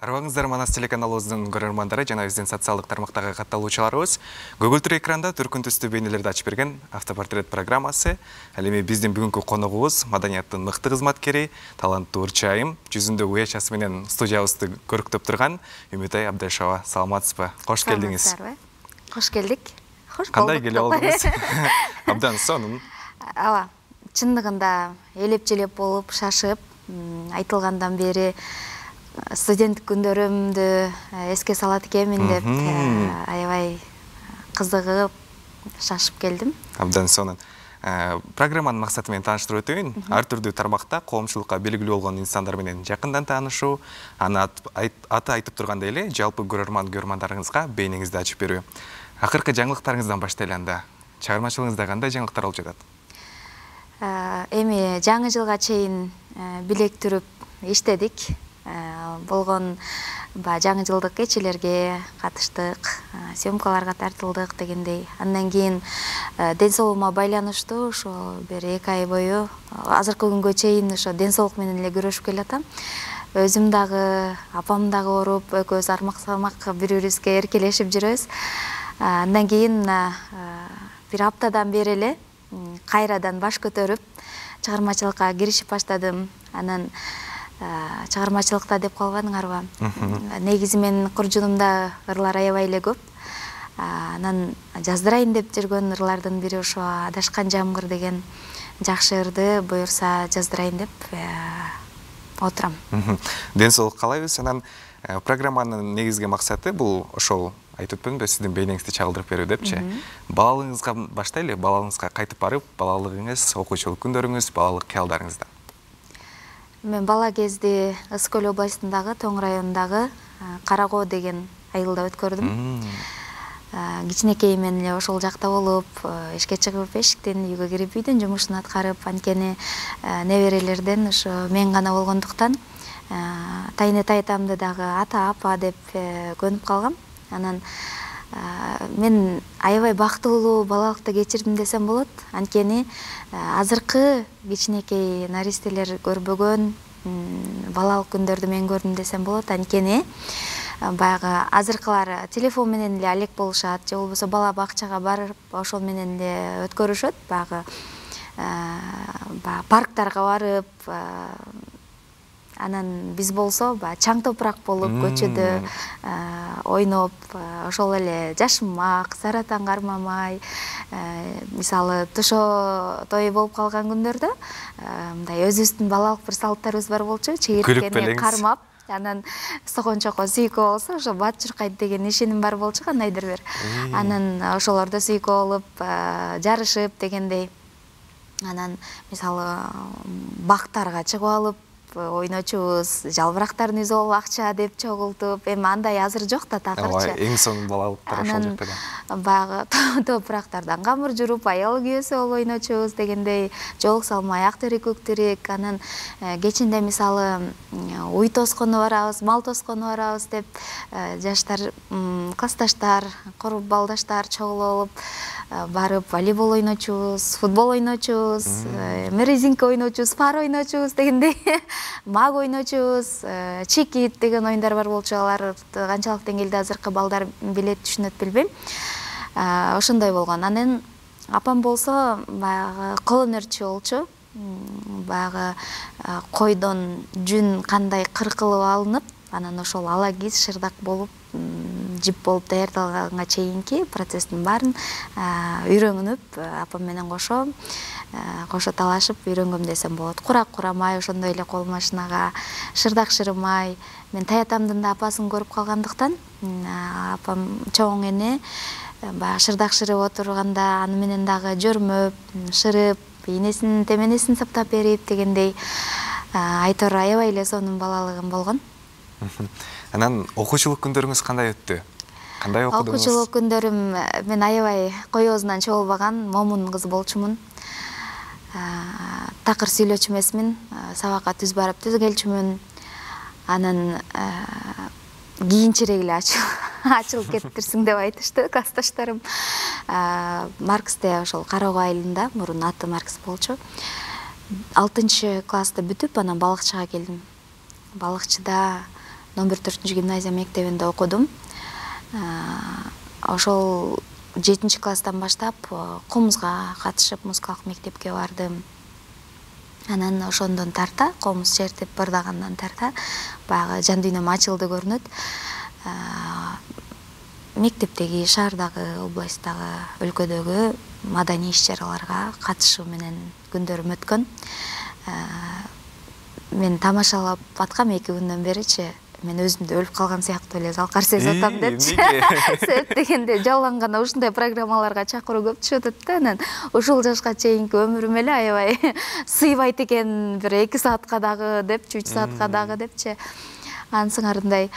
Арбаңыздар Манас телеканалыбыздын көрөрмандары жана биздин социалдык тармактагы катталуучуларыбыз көгүлтүр экранда түркүн түстүү бейнелерди ачып берген автопортрет программасы. Ал эми биздин бүгүнкү коногубуз маданияттын мыкты кызматкери, таланттуу ырчайым, жүзүндө уячасы менен студиябызды көрүктөп турган Үмүтай Абдашова. Саламатсызбы? Кош келдиңиз. Кош келдик. Кош кандай келип алдыңыз? Абдан сонун. Ооба, чындыгында элеп-желеп болуп, шашып, айтылгандан бери студенттик күндөрүмдү эске салат экенмин деп аябай кызыгып, шашып келдим. Абдан сонун. Программанын максаты менен тааныштырып өтөйүн. Ар түрдүү тармакта коомчулукка белгилүү болгон инсандар менен жакындан таанышуу, аны аты айтып тургандай эле жалпы көрөрмандарыңызга бейнеңизди ачып берүү. Акыркы жаңылыктарыңыздан баштайлы анда. Чыгармачылыгыңызда кандай жаңылыктар болуп жатат? Эми жаңы жылга чейин билек түрүп иштедик. Болгон жаңы жылдык кечелерге катыштык, съемкаларга тартылдык дегендей. Андан кийин ден соолугума байланыштуу ошо бир 2 ай бою азыркы күнгө чейин ошо ден соолук менен эле күрөшүп келатам. Өзүм дагы, апам дагы ооруп, экөөбүз армак-сармак бири-бирибизге эркелешип жүрөбүз. Андан кийин бир аптадан бери эле кайрадан баш көтөрүп чыгармачылыкка киришип баштадым. Анан чыгармачылыкта деп калбадыңарбы? Негизи менин куржунумда ырлар аябай эле көп. Анан жаздырайын деп жүргөн ырлардын бири ошо Адашкан жамгыр деген жакшы ырды буюрса жаздырайын деп отурам. Ден соолук каалайбыз. Анан программанын негизги максаты бул ошол айтып өтпөдүмбү, сиздин бейнеңизди чагылдырып берүү депчи. Балалыгыңызга баштайлы, балалыгыңызга кайтып барып, балалыгыңыз, окуучулук күндөрүңүз, балалык кыялдарыңызда. Мен бала кезде Ысык Көл областындагы Тоң районундагы Каракоо деген айылда өткөрдүм. Кичинекей менен эле ошол жакта болуп, эшикке чыгып, эшиктен үйгө кирип, үйдүн жумушун аткарып, анткени неберелерден ошо мен гана болгондуктан тайне тайтамды дагы ата, апа деп көнүп калгам. Анан мен аябай бактылуу балалыкты кечирдим десем болот. Анткени азыркы кичинекей наристелер көрбөгөн балалык күндөрдү мен көрдүм десем болот. Анткени баягы азыркылар телефон менен эле алек болушат, же болбосо бала бакчага барып, ошол менен эле өткөрүшөт. Баягы парктарга барып, анан биз болсо чаң топурак болуп көчөдө ойноп, ошол эле жашынмак, саратан кармамай, мисалы тушоо той болуп калган күндөрдө мындай өзүбүздүн балалык бир салттарыбыз бар болчу, чегирткени кармап, анан согончокко сүйкө болсо ошо бат чуркайт деген ишеним бар болчу кандайдыр бир. Анан ошолордо сүйкө болуп, жарышып дегендей. Анан мисалы бактарга чыгып алып ойночубуз, жалбырактарын үзүп алып акча деп чогултуп, эми андай азыр жок да такырчы. Эң сонун балалыктар ошол жакта. Баягы топурактардан камыр журуп, аял күйөөсү болуп ойночубуз дегендей, жолук салмай ак терек, көк терек. Анан кечинде мисалы уй тоскону барабыз, мал тоскону барабыз деп жаштар, классташтар, куруп балдаштар чогулуп алып барып волейбол ойночубуз, футбол ойночубуз, резинка ойночубуз, пар ойночубуз дегендей. Маг ойночубуз, чекит деген оюндар бар болчу. Алар канчалык деңгээлде азыркы балдар билет, түшүнөт билбейм. Ошондой болгон. Анан апам болсо баягы кол өнөрчү болчу. Баягы койдон жүн кандай кыркылып алынып, анан ошол ала киз шырдак болуп, жип болуп даярдалганга чейинки процесстин баарын үйрөнүп, апам менен кошо талашып үйрөнгөм десем болот. Курак курамай, ошондой эле кол машинага шырдак шырымай. Мен таятамдын да апасын көрүп калгандыктан, апам чоң эне баягы шырдак шырып отурганда аны менен дагы жөрмөп, шырып, энесинин теменесин саптап берип дегендей, айтор аябай эле сонун балалыгым болгон. Анан окуучулук күндөрүңүз кандай өттү? Кандай окудуңуз? Окуучулук күндөрүм мен аябай коёбузунан чогулбаган момун кыз болчумун. Такыр сүйлөчү эмесмин, сабакка түз барып түз келчүмүн. Анан кийинчерээк эле ачылып кетиптирсиң деп айтышты классташтарым. Марксте ошол Каракоо айылында, мурун аты Маркс болчу. 6-классты бүтүп, анан балыкчыга келдим. Балыкчыда номер 4-гимназия мектебинде окудум. Ошол 7-класстан баштап комузга катышып музыкалык мектепке бардым. Анан ошондон тарта, комуз чертип бырдагандан тарта баягы жан дүйнөм ачылды көрүнөт. Мектептеги, шаардагы, областтагы, өлкөдөгү маданий иш-чараларга катышуу менен күндөрүм өткөн. Мен тамашалап аткам 2 күндөн беричи. Мен өзүмдү өлүп калган сыяктуу эле залкар сезип атам депчи. Себеп дегенде жалган ушундай программаларга чакыруу көп түшүп атат да. Анан ушул жашка чейинки өмүрүм эле аябай сыйбайт экен, бир 2 саатка дагы депчи, 3 саатка дагы депчи. Анын сыңарындай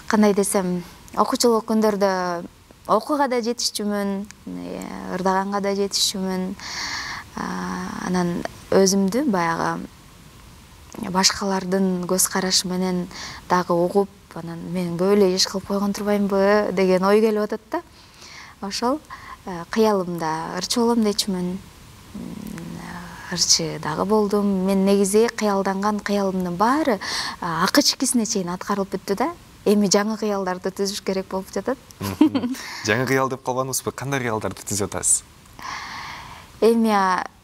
кандай десем, окуучулук күндөрдө окууга да жетишчүмүн, ырдаганга да жетишчүмүн. Анан өзүмдү баягы башкалардын көз карашы менен дагы угуп, анан мен көп эле иш кылып койгон турбаймынбы деген ой келип атат да. Ошол кыялымда ырчы болом дечүмүн. Ырчы дагы болдум. Мен негизи кыялданган кыялымдын баары акы-чикисине чейин аткарылып бүттү да. Эми жаңы кыялдарды түзүш керек болуп жатат. Жаңы кыял деп калбадыңызбы? Кандай кыялдарды түзүп атасыз? Эми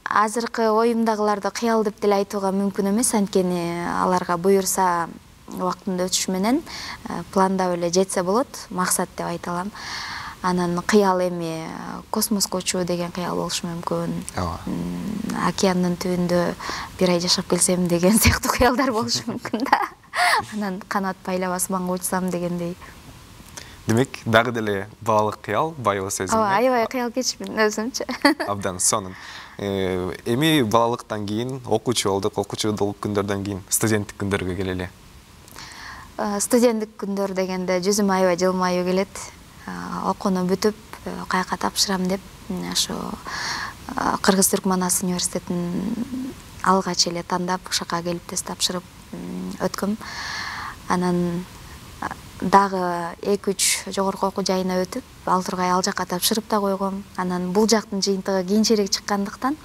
азыркы оюмдагыларды кыял деп деле айтууга мүмкүн эмес, анткени аларга буюрса убакыттын өтүшү менен пландап эле жетсе болот, максат деп айта алам. Анан кыял эми космоско учуу деген кыял болушу мүмкүн. Океандын түбүндө 1 ай жашап келсем деген сыяктуу кыялдар болушу мүмкүн да. Анан канат байлап асманга учсам дегендей. Демек, дагы деле балалык кыял, байыбы сөзүм. Аябай кыял кечмин өзүмчү. Абдан сонун. Эми балалыктан кийин окуучу болдук, окуучулук күндөрдөн кийин студенттик күндөргө келели. Студенттик күндөр дегенде жүзүм аябай жылмаюу келет. Окууну бүтүп, каяка тапшырам деп, ошо Кыргыз-Түркман Ас университетин алгач эле тандап, ошока келип тест тапшырып өткөм. Анан дагы 2-3 жогорку окуу жайына өтүп, ал тургай ал жакка тапшырып да койгом. Анан бул жактын жыйынтыгы кийинчерээк чыккандыктан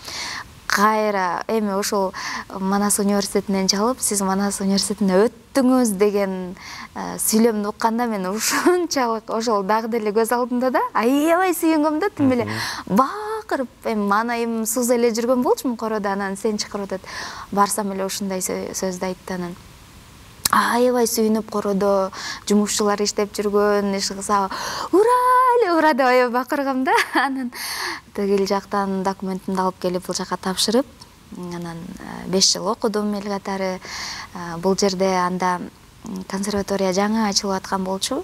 кайра эми ошол Манас университетинен чалып, сиз Манас университетине өттүңүз деген сүйлөмдү укканда мен ушунчалык ошол дагы деле көз алдымда да, аябай сүйүнгөм да, тим эле бакырып, эми манайым суза эле жүргөн болчумун короодо, анан сен чакырып атат. Барсам эле ушундай сөздү айтты. Анан аябай сүйүнүп короодо жумушчулар иштеп жүргөн, иш кылса ура деп аябай бакыргам да. Анан тигил жактан документимди алып келип бул жака тапшырып, анан 5 жыл окудум эл катары. Бул жерде анда консерватория жаңы ачылып аткан болчу.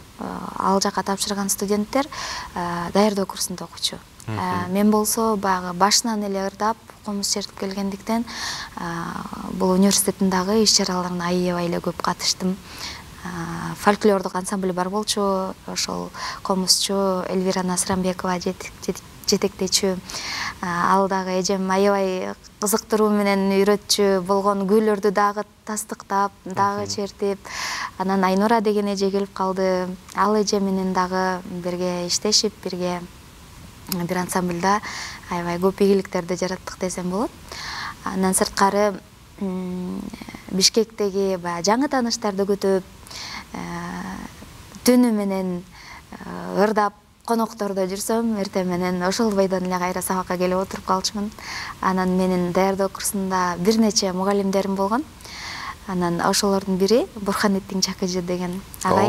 Ал жака тапшырган студенттер даярдоо курсунда окучу. Мен болсо баягы башынан эле ырдап, комуз чертип келгендиктен бул университеттин дагы иш-чараларына аябай эле көп катыштым. Фольклордук ансамбль бар болчу, ошол комузчу Эльвира Насрамбекова жетектечү. Ал дагы эжем аябай кызыктыруу менен үйрөтчү болгон күйлөрдү дагы тастыктап, дагы чертип. Анан Айнура деген эже келип калды. Ал эже менен дагы бирге иштешип, бирге бир ансамбльда аябай көп ийгиликтерди жараттык десем болот. Андан сырткары Бишкектеги баягы жаңы тааныштарды күтүп, түнү менен ырдап коноктордо жүрсөм, эртең менен ошол бойдон эле кайра сабакка келип отуруп калчумун. Анан менин даярдоо курсунда бир нече мугалимдерим болгон. Анан ошолордун бири Бурханиттин Чакыжы деген агай.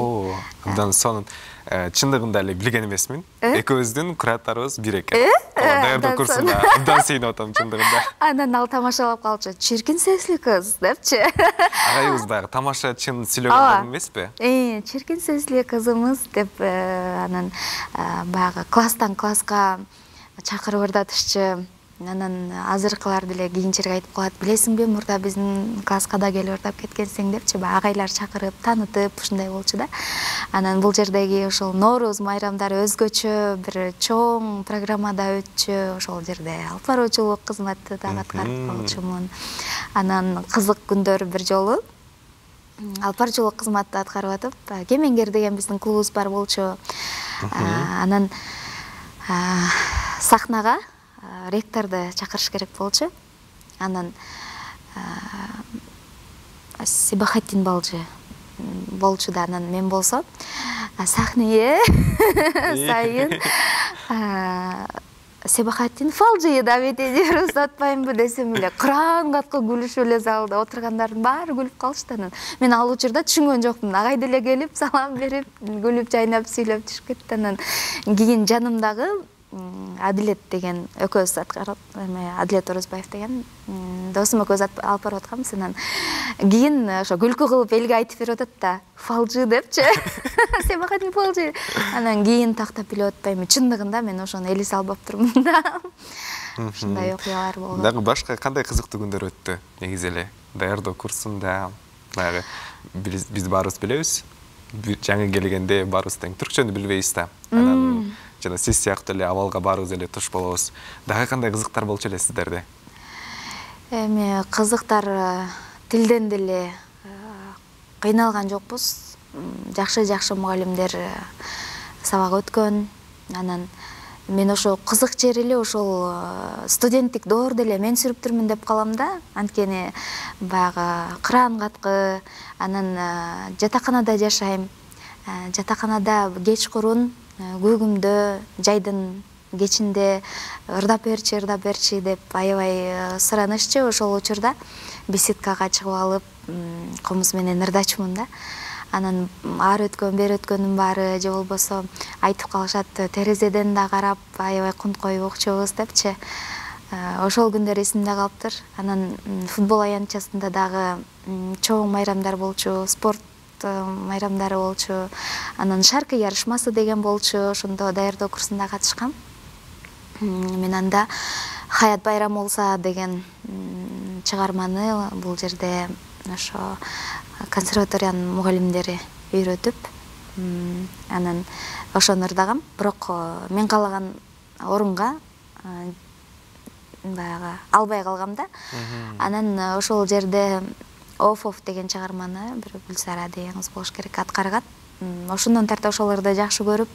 Абдан сонун. Чындыгында эле билген эмесмин. Экөөбүздүн кураттарыбыз бир экен. Даярдоо курсунда абдан сүйүнүп атам чындыгында. Анан ал тамашалап калчу. Чиркин сесли кыз депчи. Агайыбыз баягы тамаша чын сүйлөгөн эмеспи? Чиркин сесли кызымыз деп анан баягы класстан класска чакырып ырдатышчы. Анан азыркылар деле кийинчерээк айтып калат, билесиңби, мурда биздин класска да келип ырдап кеткенсиң депчи, баягы агайлар чакырып, таанытып, ушундай болчу да. Анан бул жердеги ошол Нооруз майрамдары өзгөчө бир чоң программада өтчү. Ошол жерде алып баруучулук кызматты дагы аткарып болчумун. Анан кызык күндөр бир жолу алып баруучулук кызматты аткарып атып, Кемеңгер деген биздин клубубуз бар болчу. Анан сахнага ректорду чакырыш керек болчу. Анан Себахаттин балжы болчу да, анан мен болсо сахнее сайын Себахаттин фалжыйы да бетедер узатпаймбы десем эле кыран катка күлүшүп эле залда отургандардын баары күлүп калышты. Анан мен ал учурда түшүнгөн жокмун. Агай деле келип салам берип, күлүп жайнап сүйлөп түшүп кетти. Анан кийин жанымдагы Адилет деген экөөбүз Адилет Орозбаев деген досум экөөбүз алып барып атканбыз. Анан кийин ошо күлкү кылып элге айтып берип атат да, фалжы депчи. Себахаттин фалжы. Анан кийин тактап билип атпайм, чындыгында мен ошону эле салбаптырмын да. Ушундай окуялар болду. Дагы башка кандай кызыктуу күндөр өттү негизи эле? Даярдоо курсунда баягы биз баарыбыз билебиз. Жаңы келгенде баарыбыз тең түркчөнү билбейбиз да. Анан жана сиз сыяктуу эле абалга баарыбыз эле туш болобуз. Дагы кандай кызыктар болчу эле сиздерде? Эми кызыктар тилден деле кыйналган жокпуз. Жакшы мугалимдер сабак өткөн. Анан мен ошо кызык жери эле ошол студенттик доордо эле мен сүрүптүрмүн деп калам да. Анткени баягы кыран каткы, анан жатаканада жашайм. Жатаканада кечкурун көгүмдө жайдын кечинде ырдап берчи деп аябай суранышчу. Ошол учурда беседкага чыгып алып, комуз менен ырдачумун да. Анан ар өткөн, бери өткөнүн баары же болбосо айтып калышат, терезеден да карап аябай кунткой окчубуз депчи. Ошол күндөр эсимде калыптыр. Анан футбол аянтчасында дагы чоң майрамдар болчу, спорт майрамдары болчу. Анан шаркы ярышмасы деген болчу. Ошондо даярдоо курсунда катышкам. Мен анда Хаят Байрам болса деген чыгарманы бул жерде ошо консерваториянын мугалимдери үйрөтүп, анан ошону ырдагам. Бирок мен каалаган орунга баягы албай калгам да. Анан ошол жерде Оф деген чыгарманы бир Гүлсара деген кыз болуш керек аткарган. Ошондон тарта ошолорду жакшы көрүп,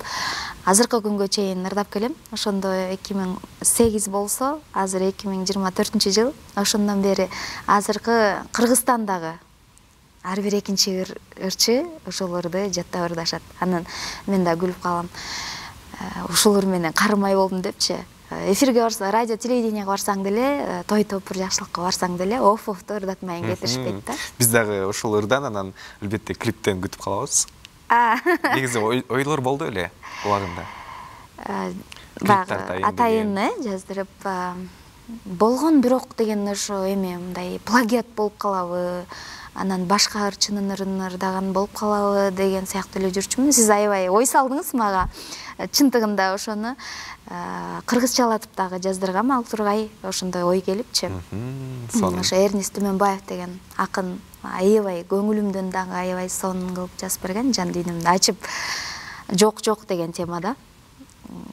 азыркы күнгө чейин ырдап келем. Ошондо 2008 болсо, азыр 2024-жыл. Ошондон бери азыркы Кыргызстандагы ар бир экинчи ырчы ошолорду жаттап ырдашат. Анан мен да күлүп калам. Ушулар менен карымай болдум депчи. Эфирге барса, радио, телевиденияга барсаң деле, той топур жакшылыкка барсаң деле, оффту ырдатмайын кетишпейт да. Биз дагы ошол ырдан анан албетте клиптен күтүп калабыз. Негизи ойлор болду эле убагында. Баягы атайын жаздырып болгон, бирок деген ошо эми мындай плагиат болуп калабы, анан башка ырчынын ырдаган болуп калабы деген сыяктуу эле жүрчүмүн. Сиз аябай ой салдыңыз мага. Чындыгында ошону кыргызчалатып дагы жаздыргам ал тургай, ошондой ой келипчи. Ошо Эрнест Түмөнбаев деген акын аябай көңүлүмдөн дагы аябай сонун кылып жазып берген, жан дүйнөмдү ачып жок деген темада.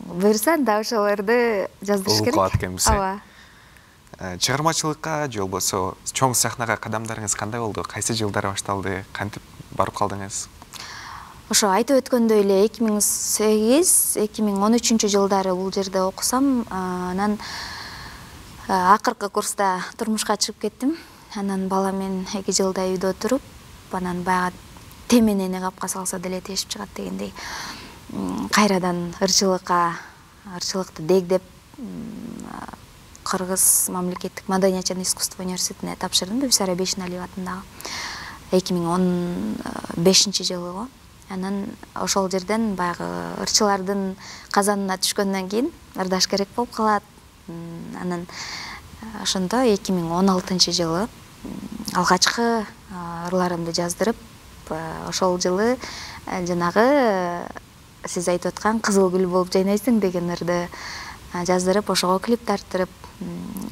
Буюрса да ошолорду жаздырыш керек. Улукат экенбиз. Ооба. Чыгармачылыкка же болбосо чоң сахнага кадамдарыңыз кандай болду? Кайсы жылдары башталды? Кантип барып калдыңыз? Ошо айтып өткөндөй эле 2008-2013 жылдары бул жерде окусам, анан акыркы курста турмушка чыгып кеттим. Анан баламен 2 жылдай үйдө туруп, анан баягы теменени капка салса деле тешип чыгат дегендей кайрадан ырчылыкты дегдеп Кыргыз мамлекеттик маданият жана искусство университетине тапшырдым, Бибисара Бейшеналиева атындагы 2015 жылы го. Анан ошол жерден баягы ырчылардын казанына түшкөндөн кийин ырдаш керек болуп калат. Анан ошондо 2016 жылы алгачкы ырларымды жаздырып, ошол жылы жанагы сиз айтып аткан кызыл гүл болуп жайнайсың деген ырды жаздырып, ошого клип тарттырып,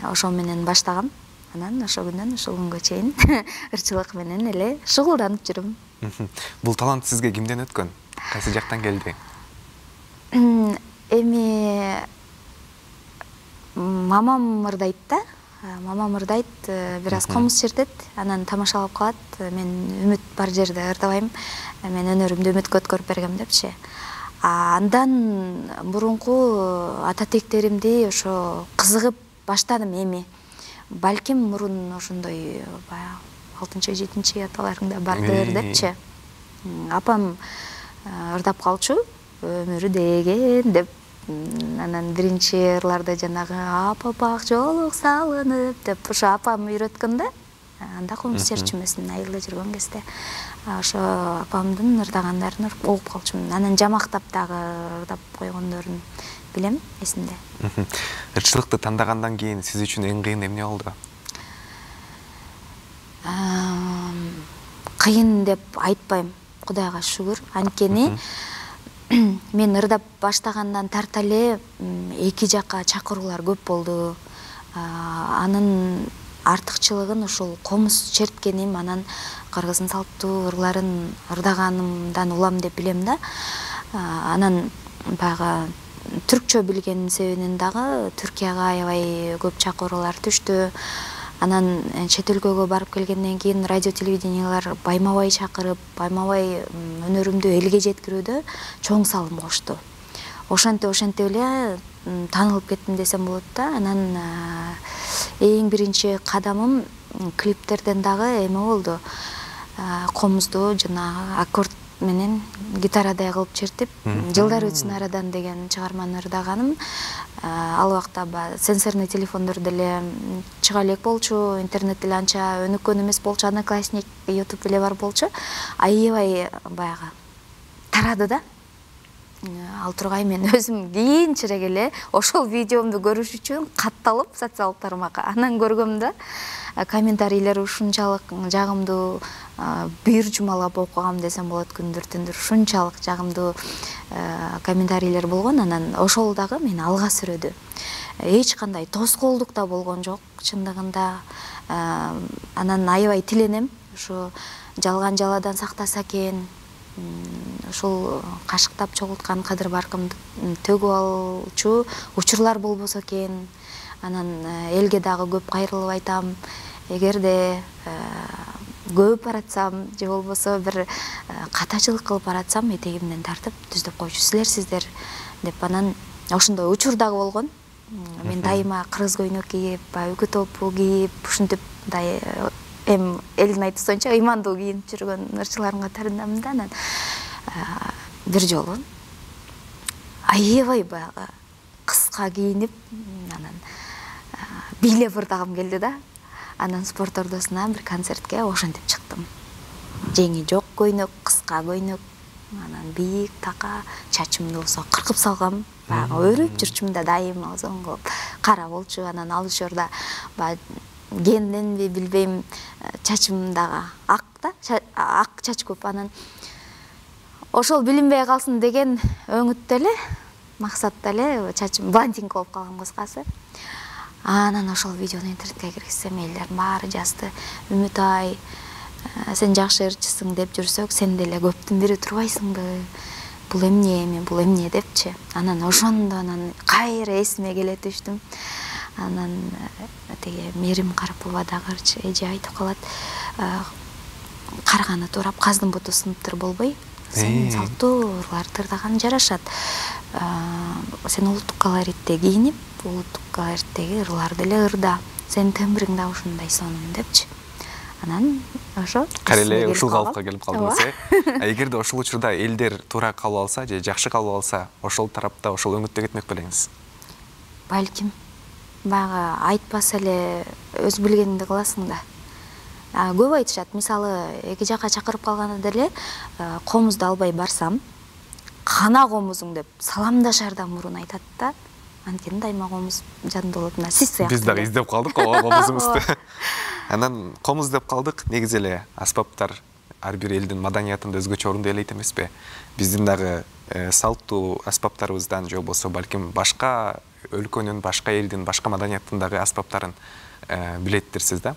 ошол менен баштагам. Анан ошол күндөн ушул күнгө чейин ырчылык менен эле шугулданып жүрөм. Бул талант сизге кимден өткөн? Кайсы жактан келди? Эми мамам ырдайт да. Мамам ырдайт, бир аз комуз чертет, анан тамашалап калат. Мен үмүт бар жерде ырдабайм. Мен өнөрүмдү үмүткө өткөрүп бергем депчи. Андан мурунку ата тектеримди ошо кызыгып баштадым эми. Балким мурун ошондой 6-7 аталарыңда бардыр депчи. Апам ырдап калчу, өмүрү деген деп. Анан биринчи ырларды жанагы апапак жолук салынып деп ошо апам үйрөткөн да. Анда комуз серчимесин айылда жүргөн кезде ошо апамдын ырдагандарын угуп калчумун. Анан жамактап дагы ырдап койгондорун билем, эсимде. Ырчылыкты тандагандан кийин сиз үчүн эң кыйын эмне болду? Кыйын деп айтпайм, Кудайга шүгүр. Анткени мен ырдап баштагандан тарта эле эки жакка чакыруулар көп болду. Анын артыкчылыгын ушул комуз черткеним, анан кыргыздын салттуу ырларын ырдаганымдан улам деп билем да. Анан баягы түркчө билгенин себебинен дагы Түркияга аябай көп чакыруулар түштү. Анан чет өлкөгө барып келгенден кийин радио телевидениялар байма-бай чакырып, байма-бай өнөрүмдү элге жеткирүүдө чоң салым кошту. Ошентип эле таанылып кеттим десем болот да. Анан эң биринчи кадамым клиптерден дагы эме болду. Комузду жанагы аккорд менен гитарадай кылып чертип, жылдар өтсүн арадан деген чыгарманы ырдаганым. Ал убакта сенсорный телефондор деле чыга элек болчу, интернет деле анча өнүккөн эмес болчу, Одноклассник, YouTube эле бар болчу. Аябай баягы тарады да. Ал тургай мен өзүм кийинчерээк эле ошол видеомду көрүш үчүн катталып социалдык тармакка анан көргөм да. Комментарийлер ушунчалык жагымдуу, бир жумалап окугам десем болот, күндүр-түндүр ушунчалык жагымдуу комментарийлер болгон. Анан ошол дагы мени алга сүрөдү. Эч кандай тоскоолдук да болгон жок чындыгында. Анан аябай тиленем, ушу жалган жаладан сактаса экен, ушул кашыктап чогулткан кадыр баркымды төгүп алчу учурлар болбосо экен. Анан элге дагы көп кайрылып айтам, эгерде көп баратсам же болбосо бир катачылык кылып баратсам, этегимден тартып түздөп койчу сиздер деп. Анан ошондой учур дагы болгон. Мен дайыма кыргыз көйнөк кийип, үкү топу кийип, ушинтип элдин айтуусунча ыймандуу кийинип жүргөн ырчылардын катарындамын да. Анан бир жолу аябай баягы кыска кийинип, анан бийлеп ырдагым келди да. Анан спорт ордосуна бир концертке ошентип чыктым. Жеңи жок көйнөк, кыска көйнөк, анан бийик така, чачымды болсо кыркып салгам. Баягы өрүп жүрчүмүн да дайыма озон кылып. Кара болчу, анан ал учурда генденби билбейм, чачым дагы ак да, ак чач көп. Анан ошол билинбей калсын деген өңүттө эле, максатта эле чачым блондинка болуп калган кыскасы. Анан ошол видеону интернетке киргизсем, элдер баары жазды: Үмүт-ай, сен жакшы ырчысың деп жүрсөк, сен деле көптүн бири турбайсыңбы? Бул эмне, мен бул эмне депчи. Анан ошондо кайра эсиме келе түштүм. Анан теге Мерим Карпова дагы эже айтып калат: карганы туурап, каздын буту сыныптыр болбой, сен салттуу ырларды ырдаган жарашат. Сен улуттук колоритте кийинип, улуттук колориттеги ырларды эле ырда. Сен тембриң да ушундай сонун депчи. Анан ошо кареле ушул калыпка келип калдыңыз, Эгерде ошол учурда элдер туура кабыл алса же жакшы кабыл алса, ошол тарапта, ошол өңүттө кетмек белеңиз? Балким. Баягы айтпаса эле өз билгениңди кыласың да. Көп айтышат, мисалы, эки жакка чакырып калганда деле комузду албай барсам, кана комузуң деп саламдашардан мурун айтат да. Анткени дайыма комуз жадында болот. Сиз сыяктуу. Биз дагы издеп калдык комузубузду. Анан комуз деп калдык, негизи эле аспаптар ар бир элдин маданиятында өзгөчө орун ээлейт эмеспи? Биздин дагы салттуу аспаптарыбыздан же болбосо балким башка өлкөнүн, башка элдин, башка маданияттын дагы аспаптарын билеттирсиз да.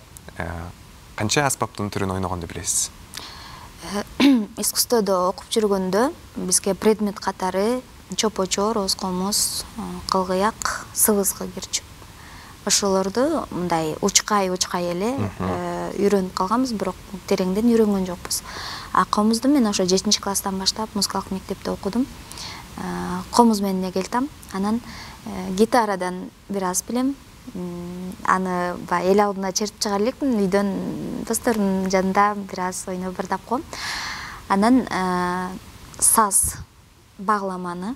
Канча аспаптын түрүн ойногонду билесиз? Искусстводо окуп жүргөндө бизге предмет катары чопочор, оз комуз, кылгыяк, сыбызгы кирчү. Ошолорду мындай учкай эле үйрөнүп калганбыз, бирок тереңден үйрөнгөн жокпуз. Комузду мен ошо 7-класстан баштап музыкалык мектепте окудум. Комуз менен эгелтам. Анан гитарадан бир аз билем, аны баягы эл алдына чертип чыгар элекмин, үйдөн досторумдун жанында бир аз ойноп ырдапком. Анан саз багламаны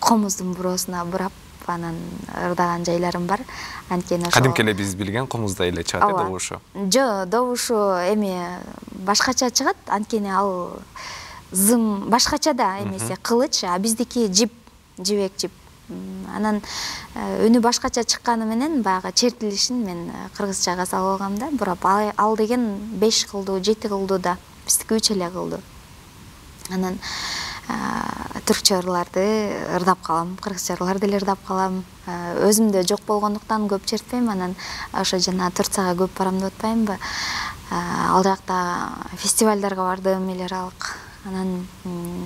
комуздун буроосуна бурап анан ырдаган жайларым бар. Анткени ошо кадимки эле биз билген комуздай эле чыгат добушу. Жок, добушу башкача чыгат, анткени ал зым башкача да эмесе кылыч, а биздики жибек жип. Анан үнү башкача чыкканы менен баягы чертилишин мен кыргызчага салып алгам да, бурап ал деген 5 кылдуу, 7 кылдуу да, биздики 3 эле кылдуу. Анан түркчө ырларды ырдап калам, кыргызча ырларды деле ырдап калам. Өзүмдө жок болгондуктан көп чертпейм, анан ошо жана Турцияга көп барам деп атпаймынбы. Ал жакта фестивалдарга бардым, эл аралык. Анан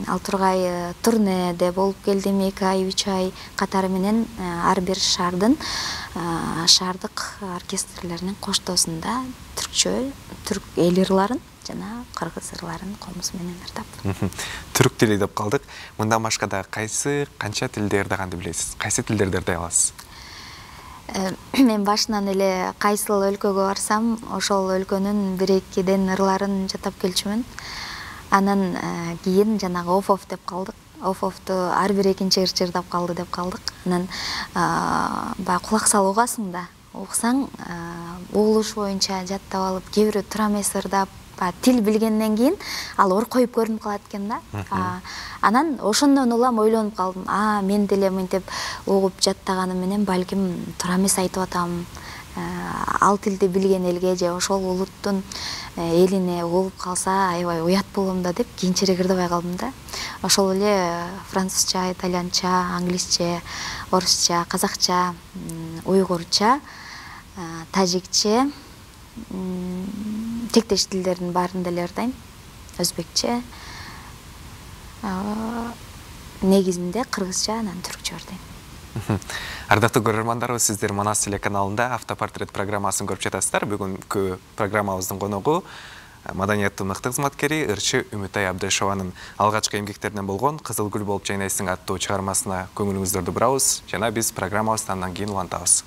ал тургай турнеде болуп келдим 2 ай, 3 ай катары менен ар бир шаардык оркестрлеринин коштоосунда түркчө, түрк эл ырларын жана кыргыз ырларын комуз менен ырдап. Түрк тили деп калдык. Мындан башка да канча тилде ырдаганды билесиз? Кайсы тилдерди ырдай аласыз? Мен башынан эле кайсыл өлкөгө барсам, ошол өлкөнүн 1-2 ырларын жатап келчүмүн. Анан кийин жанагы оф деп калдык. Офту ар бир экинчи ырчы ырдап калды деп калдык. Анан баягы кулак салып угасың да. Уксаң угулуш боюнча жаттап алып, кээ бирөө тура эмес ырдап, тил билгенден кийин ал оркоюп көрүнүп калат экен да. Анан ошондон улам ойлонуп калдым. Мен деле мынтип угуп жаттаганым менен балким туура эмес айтып атам. Ал тилди билген элге же ошол улуттун элине угуп калса аябай уят болом да деп кийинчерээк ырдабай калдым да. Ошол эле французча, итальянча, англисче, орусча, казакча, уйгурча, тажикче, тектеш тилдердин баарын деле ырдайм. Өзбекче, негизинде кыргызча, анан түркчө ырдайм. Ардактуу көрөрмандарыбыз, сиздер Манас телеканалында автопортрет программасын көрүп жатасыздар. Бүгүнкү программабыздын коногу маданияттын мыкты кызматкери ырчы Үмүтай Абдышованын алгачкы эмгектеринен болгон Кызыл гүл болуп жайнайсың аттуу чыгармасына көңүлүңүздөрдү бурабыз жана биз программабызды андан кийин улантабыз.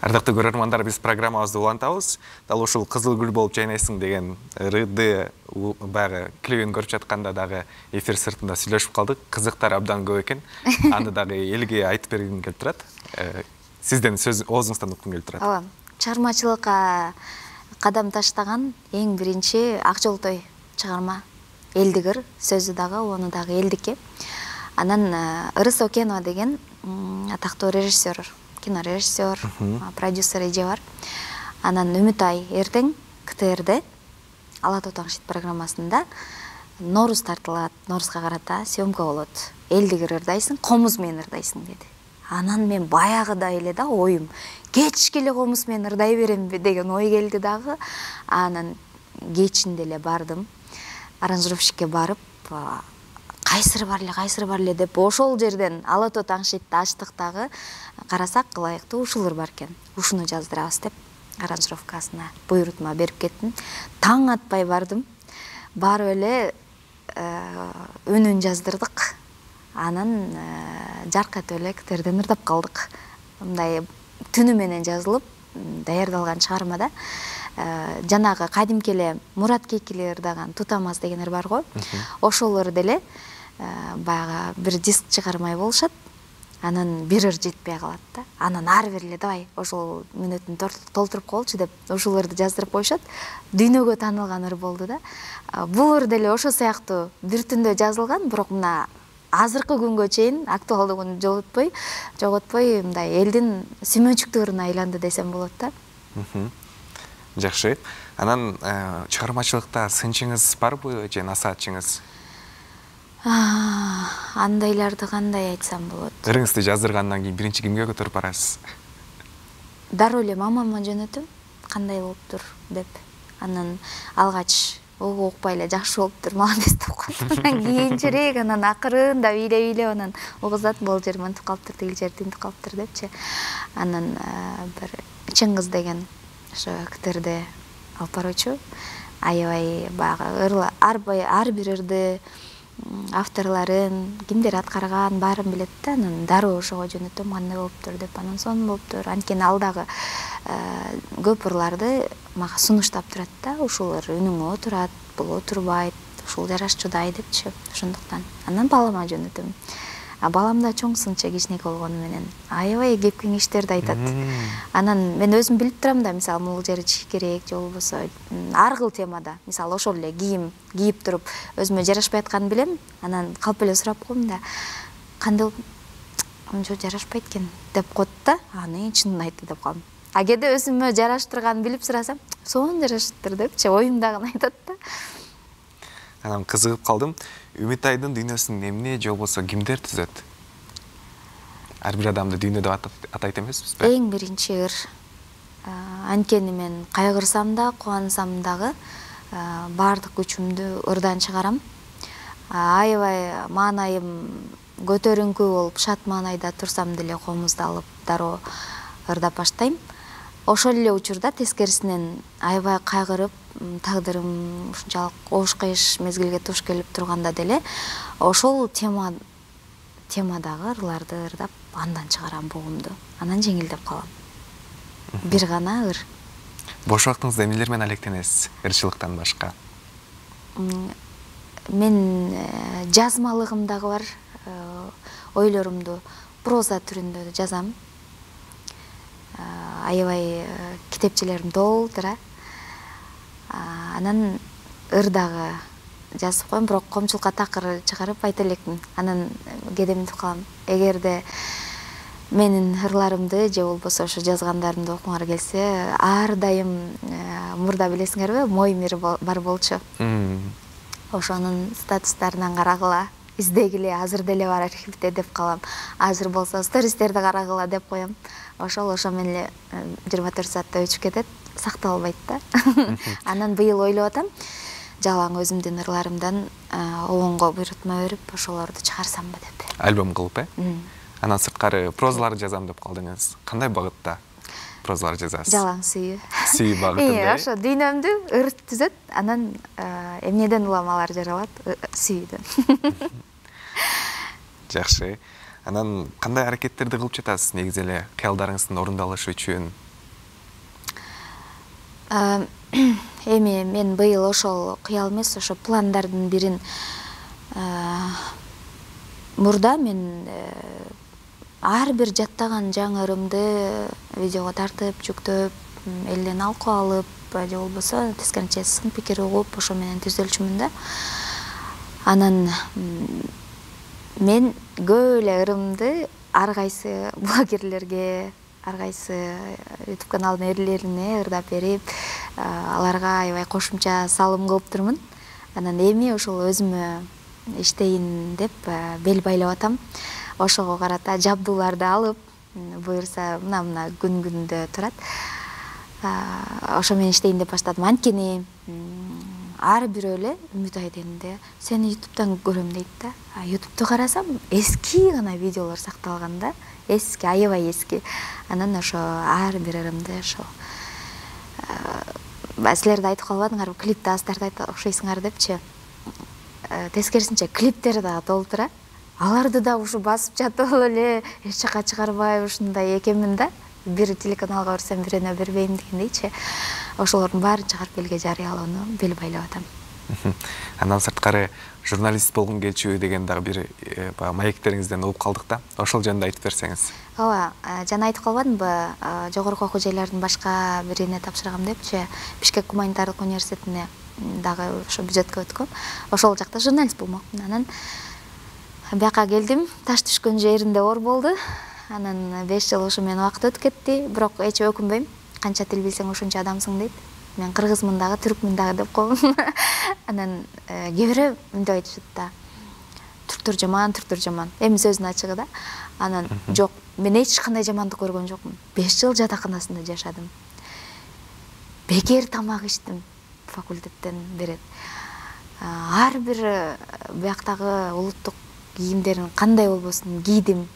Ардактуу көрөрмандар, биз программабызды улантабыз. Дал ушул кызыл гүл болуп жайнайсың деген ырды баягы клибин көрүп жатканда дагы эфир сыртында сүйлөшүп калдык. Кызыктар абдан көп экен. Аны дагы элге айтып бергим келип турат. Сизден сөз оозуңуздан уккум келип турат. Ооба. Чыгармачылыкка кадам таштаган эң биринчи Акжолтой чыгарма. Элдигир сөзү дагы, ону дагы элдикке. Анан Ырыс Окенова деген атактуу режиссер, кино режиссер, продюсер эже бар. Анан Үмүтай эртең КТРде Ала тоо таң шит программасында Норуз тартылат, Норузга карата съемка болот. Элдигир ырдайсың, комуз менен ырдайсың деди. Анан мен баягыда эле да оюм, кечке эле комуз менен ырдай беремби деген ой келди дагы. Анан кечинде эле бардым. Аранжировщикке барып, кайсыры бар эле деп ошол жерден Ала тоо таң шитти ачтык дагы. Карасак ылайыктуу ушулар бар экен. Ушуну жаздырабыз деп аранжировкасына буйрутма берип кеттим. Таң атпай бардым. Барып эле үнүн жаздырдык. Анан жаркатып эле КТРден ырдап калдык. Мындай түнү менен жазылып, даярдалган чыгармада жанагы кадимки эле Мурат Кейкили ырдаган Тутамас деген ыр бар го. Ошолор деле баягы бир диск чыгармай болушат. Анан бир ыр жетпей калат да. Анан ары бери эле давай ошол мүнөтүн толтуруп коелучу деп ушул ырды жаздырып коюшат. Дүйнөгө таанылган ыр болду да. Бул ыр деле ошо сыяктуу бир түндө жазылган, бирок мына азыркы күнгө чейин актуалдыгын жоготпой мындай элдин сүймөнчүктүү ырына айланды десем болот да. Жакшы. Анан чыгармачылыкта сынчыңыз барбы же насаатчыңыз? Андайларды кандай айтсам болот? Ырыңызды жаздыргандан кийин биринчи кимге көтөрүп барасыз? Дароо эле мамама жөнөтөм, кандай болуптур деп. Анан алгач укпай эле жакшы болуптур, молодец деп коет. Анан кийинчерээк анан акырында бийлеп анан угузат, бул жер мынтип калыптыр, тигил жер тинтип калыптыр депчи. Анан бир Чыңгыз деген ошо КТРде алып баруучу аябай баягы ар бир ырды авторларын, кимдер аткарган баарын билет да. Анан дароо ошого жөнөтөм, кандай болуптур деп. Анан сонун болуптур. Анткени ал дагы көп ырларды мага сунуштап турат да. Ушул ыр үнүңө отурат, бул отурбайт, ушул жарашчудай депчи. Ошондуктан анан балама жөнөтөм. Балам да чоң сынчы, кичинекей болгону менен аябай кеп кеңештерди айтат. Анан мен өзүм билип турам да, мисалы могул жери чийиш керек же болбосо ар кыл темада, мисалы ошол эле кийим кийип туруп өзүмө жарашпай атканын билем. Анан калп эле сурап коем да, кандай мынча жарашпайт экен деп коет да. Аны чынын айтты деп калам. Кээде өзүмө жараштырганын билип сурасам, сонун жарашыптыр депчи, оюмдагын айтат да. Анан кызыгып калдым. Үмүтайдын дүйнөсүн эмне же болбосо кимдер түзөт? Ар бир адамды дүйнө деп атайт эмеспизби? Эң биринчи ыр. Анткени мен кайгырсам да, кубансам дагы баардык күчүмдү ырдан чыгарам. Аябай маанайым көтөрүңкү болуп, шат маанайда турсам деле комузду алып дароо ырдап баштайм. Ошол эле учурда тескерисинен аябай кайгырып, тагдырым ушунчалык оош кыйыш мезгилге туш келип турганда деле ошол темадагы ырларды ырдап андан чыгарам бугумду. Анан жеңилдеп калам. Бир гана ыр. Бош убактыңызда эмнелер менен алектенесиз, ырчылыктан башка? Мен жазмалыгым дагы бар. Ойлорумду проза түрүндө жазам. Аябай китепчелерим толтура. Анан ыр дагы жазып коем, бирок комчулукка такыр чыгарып айта элекмин. Анан кээде мынтип калам, эгерде менин ырларымды же болбосо ошо жазгандарымды окуңар келсе, ар дайым мурда билесиңерби, Моимир бар болчу. Ошонун статустарынан карагыла, издегиле, азыр деле бар архивде деп калам. Азыр болсо стористерди карагыла деп коем. Ошо менен эле 24 саатта өчүп кетет, сакталбайт да. Анан быйыл ойлоп атам, жалаң өзүмдүн ырларымдан обонго буйрутма берип, ошолорду чыгарсамбы деп. Альбом кылып, Анан сырткары прозалар жазам деп калдыңыз. Кандай багытта прозалар жазасыз? Жалаң сүйүү. Сүйүү багытында. Ошо дүйнөмдү ыр түзөт, анан эмнеден уламалар жаралат? Сүйүүдөн. Жакшы. Анан кандай аракеттерди кылып жатасыз негизи эле кыялдарыңыздын орундалышы үчүн? Эми мен быйыл ошол кыял эмес, ошо пландардын бирин мурда мен ар бир жаттаган жаңы ырымды видеого тартып, жүктөп, элден алкоо алып, же болбосо тескерисинче сын пикир угуп, ошо менен түзөлчүмүн да. Анан мен көп эле ырымды ар кайсы блогерлерге, ар кайсы YouTube каналдын ээлерине ырдап берип, аларга аябай кошумча салым кылыптырмын. Анан эми ошол өзүмө иштейин деп бел байлап атам. Ошого карата жабдууларды алып, буюрса мына күн-күндө турат. Ошо менен иштейин деп баштадым. Анткени ар бирөө эле Үмүт Айденде сени YouTube'дан көрөм дейт да. YouTube'ду карасам эски гана видеолор сакталган да. Эски, аябай эски. Анан ошо ар бир ырымды ошо силер да айтып калбадыңарбы, клипти азтарды окшойсуңар депчи. Тескерисинче клиптер да толтура. Аларды да ушу басып жатып эле эч жака чыгарбай ушундай экенмин да. Бир телеканалга берсем бирөөнө бербейм дегендейчи. Ошолордун баарын чыгарып элге жарыялоону бел байлап атам. Андан сырткары журналист болгум келчү деген дагы бир маектериңизден угуп калдык да. Ошол жөнүндө айтып берсеңиз. Ооба, жана айтып калбадымбы, жогорку окуу жайлардын башка бирине тапшыргам депчи, Бишкек гуманитардык университетине дагы ошо бюджетке өткөм. Ошол жакта журналист болмокмун. Анан бияка келдим, таш түшкөн жеринде оор болду. Анан 5 жыл ошо менен убакыт өтүп кетти, бирок эч өкүнбөйм. Канча тил билсең ошончо адамсың дейт. Мен кыргызмын дагы, түркмүн дагы деп коем. Анан кээ бирөө мындай айтышат да. Түрктөр жаман. Эми сөздүн ачыгы да. Анан жок, мен эч кандай жамандык көргөн жокмун. 5 жыл жатаканасында жашадым. Бекер тамак иштим, факультеттен берет. Ар бир бияктагы улуттук кийимдерин кандай болбосун кийдим.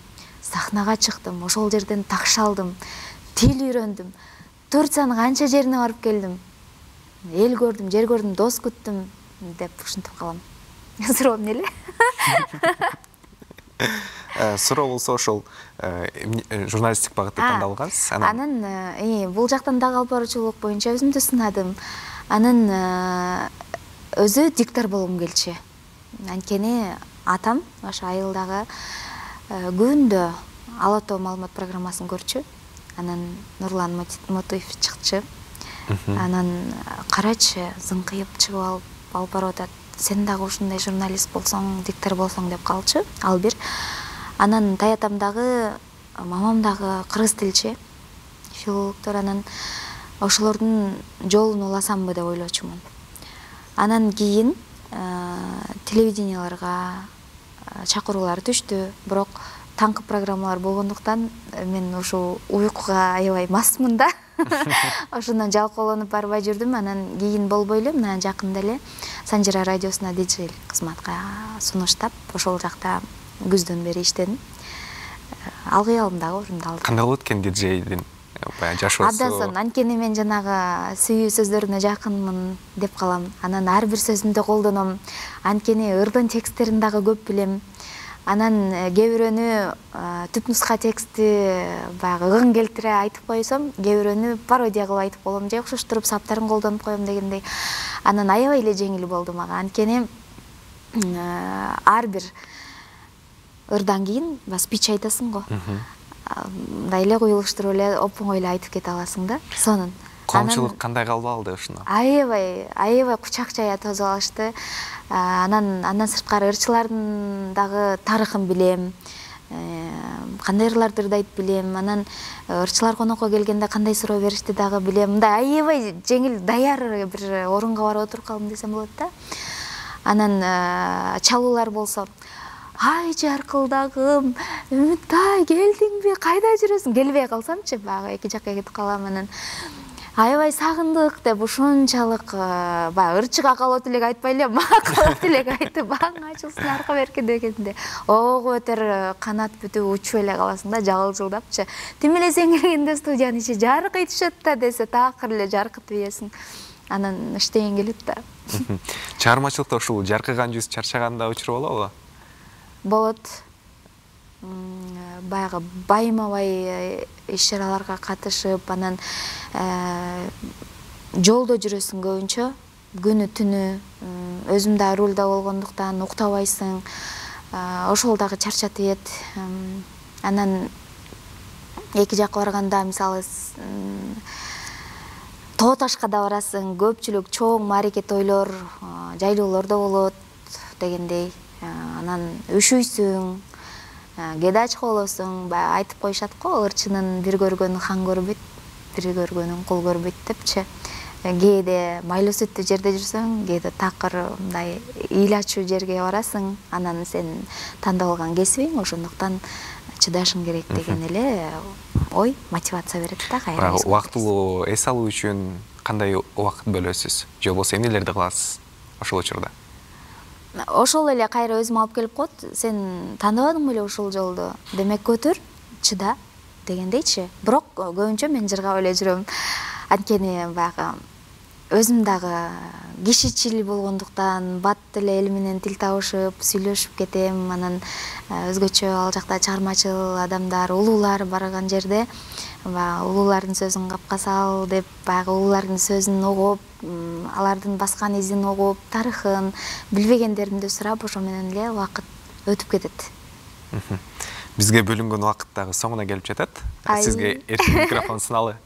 Сахнага чыктым, ошол жерден такш алдым, тил үйрөндүм. Турциянын канча жерине барып келдим. Эл көрдүм, жер көрдүм, дос күттүм деп ушинтип калам. Суроо эмне эле? Суроо болсо ошол журналисттик багытты тандалгансыз. Анан бул жактан дагы алып баруучулук боюнча өзүмдү сынадым. Анан өзү диктор болгум келчү. Анткени атам ошо айылдагы күндө Ала тоо маалымат программасын көрчү. Анан Нурлан Мотуев чыкчы. Анан карачы, зыңкыйып чыгып алып барып атат. Сен дагы ушундай журналист болсоң, диктор болсоң деп калчы. Ал бир. Анан таятам дагы, мамам дагы кыргыз тилчи, филологдор. Анан ошолордун жолун уласамбы деп ойлочумун. Анан кийин телевиденияларга чакыруулар түштү, бирок таңкы программалар болгондуктан мен ушу уйкуга аябай масмын да. Ошондон жалкоолонуп барбай жүрдүм. Анан кийин болбой эле, мына жакында эле Санжира радиосуна диджей кызматка сунуштап, ошол жакта күздөн бери иштедим. Ал кыялым дагы орундалды. Кандай болот экен диджейдин баягы жашоосу? Абдан, анткени мен жанагы сүйүү сөздөрүнө жакынмын деп калам. Анан ар бир сөзүндө колдоном. Анткени ырдын тексттерин дагы көп билем. Анан кээ бирөөнү түп нуска текстти баягы ыгын келтире айтып койсом, кээ бирөөнү пародия кылып айтып коем, же окшоштуруп саптарын колдонуп коем дегендей. Анан аябай эле жеңил болду мага. Анткени ар бир ырдан кийин спич айтасың го. Мындай эле куюлуштуруп эле оп-оңой эле айтып кете аласың да. Сонун. Коомчулук кандай кабыл алды ушуну? Аябай кучак жая тосуп алышты. Андан сырткары ырчылардын дагы тарыхын билем. Кандай ырларды ырдайт билем. Анан ырчылар конокко келгенде кандай суроо беришти дагы билем. Мындай аябай жеңил, даяр бир орунга барып отуруп калдым десем болот да. Анан чалуулар болсо, ай жаркылдагым, Үмүтай келдиңби, кайда жүрөсүң? Келбей калсамчы, баягы эки жакка кетип калам. Анан аябай сагындык деп ушунчалык баягы ырчыга калып элек айтпай эле, мага калып элек айтып, баң ачылсын арка берки дегенде, ого өтөр канат бүтүп учуп эле каласың да, жагылжылдапчы. Тим эле сен келгенде студиянын ичи жаркый түшөт да десе, такыр эле жаркытып ийесиң. Анан иштеген келет да. Чыгармачылыкта ушул жаркыган жүз чарчаганда учур болобу? Болот. Баягы байма-бай иш-чараларга катышып, анан жолдо жүрөсүң көбүнчө, күнү түнү, өзүм да рулда болгондуктан уктабайсың, ошол дагы чарчатып эт. Анан эки жакка барганда, мисалы, тоо ташка да барасың, көпчүлүк чоң маареке тойлор, жайлоолордо болот дегендей. Анан үшүйсүң, кээде ачка болосуң, баягы айтып коюшат го, ырчынын бир көргөнү хан көрбөйт, бир көргөнүн кул көрбөйт депчи. Кээде майлуу сүттүү жерде жүрсөң, кээде такыр мындай эл ачуу жерге барасың, анан сен тандап алган кесибиң, ошондуктан чыдашың керек деген эле ой, мотивация берет да кайра. Убактылуу эс алуу үчүн кандай убакыт бөлөсүз? Же болбосо эмнелерди кыласыз ошол учурда? Ошол эле кайра өзүм алып келип коет. Сен тандабадың беле ушул жолду? Демек көтөр, чыда дегендейчи. Бирок көбүнчө мен жыргап эле жүрөм. Анткени баягы өзүм дагы кишичил болгондуктан бат эле эл менен тил табышып, сүйлөшүп кетем. Анан өзгөчө ал жакта чыгармачыл адамдар, улуулар барган жерде улуулардын сөзүн капка сал деп, баягы улуулардын сөзүн угуп, алардын баскан изин угуп, тарыхын, билбегендеримди сурап, ошо менен эле убакыт өтүп кетет. Бизге бөлүнгөн убакыт дагы соңуна келип жатат. Сизге эркин микрофон суналы.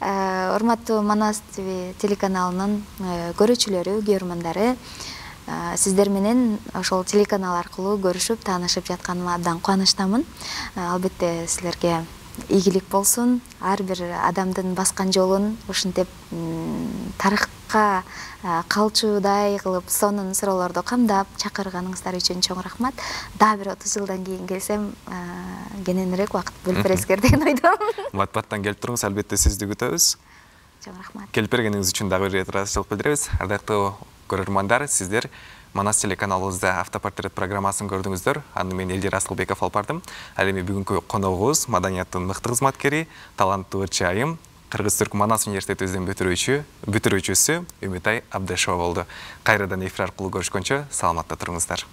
Урматтуу Манас ТВ телеканалынын көрүүчүлөрү, көрөрмандары, сиздер менен ошол телеканал аркылуу көрүшүп, таанышып жатканыма абдан кубанычтамын. Албетте силерге ийгилик болсун. Ар бир адамдын баскан жолун ушинтип тарыхка калчуудай кылып, сонун суроолорду камдап чакырганыңыздар үчүн чоң рахмат. Дагы бир 30 жылдан кийин келсем, кененирээк убакыт бөлүп бересиздер деген ойдомун. Матбаттан келип туруңуз, албетте сизди күтөбүз. Чоң рахмат. Келип бергениңиз үчүн дагы бир ыраазычылык билдиребиз. Ардактуу көрөрмандар, сиздер Манас телеканалыбызда автопортрет программасын көрдүңүздөр. Аны мен Элдир Асылбеков алып бардым. Ал эми бүгүнкү коногубуз маданияттын мыкты кызматкери, таланттуу ырчы айым, Кыргыз-Түрк Манас университетибиздин бүтүрүүчүсү Үмүтай Абдешова болду. Кайрадан эфир аркылуу көрүшкөнчө саламатта туруңуздар.